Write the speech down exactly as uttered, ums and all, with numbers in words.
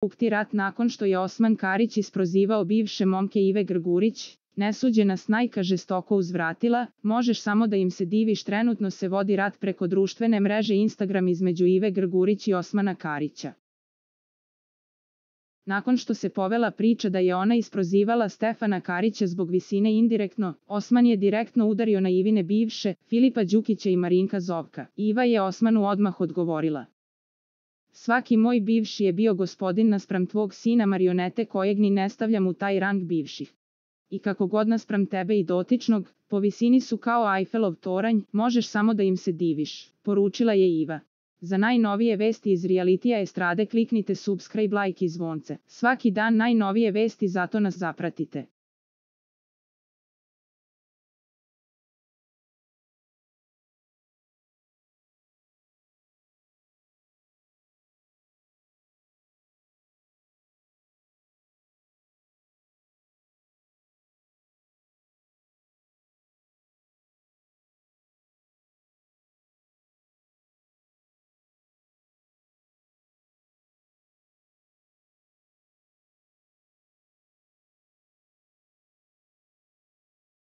bukti rat nakon što je Osman Karić isprozivao bivše momke Ive Grgurić, nesuđena snajka žestoko uzvratila, možeš samo da im se diviš, trenutno se vodi rat preko društvene mreže Instagram između Ive Grgurić i Osmana Karića. Nakon što se povela priča da je ona isprozivala Stefana Karića zbog visine indirektno, Osman je direktno udario na Ivine bivše, Filipa Đukića i Marinka Zovka. Iva je Osmanu odmah odgovorila: svaki moj bivši je bio gospodin naspram tvog sina marionete kojeg ni ne stavljam u taj rang bivših. I kako god naspram tebe i dotičnog, po visini su kao Eiffel toranj, možeš samo da im se diviš, poručila je Iva. Za najnovije vesti iz realitija estrade kliknite subscribe, like i zvonce. Svaki dan najnovije vesti, zato nas zapratite.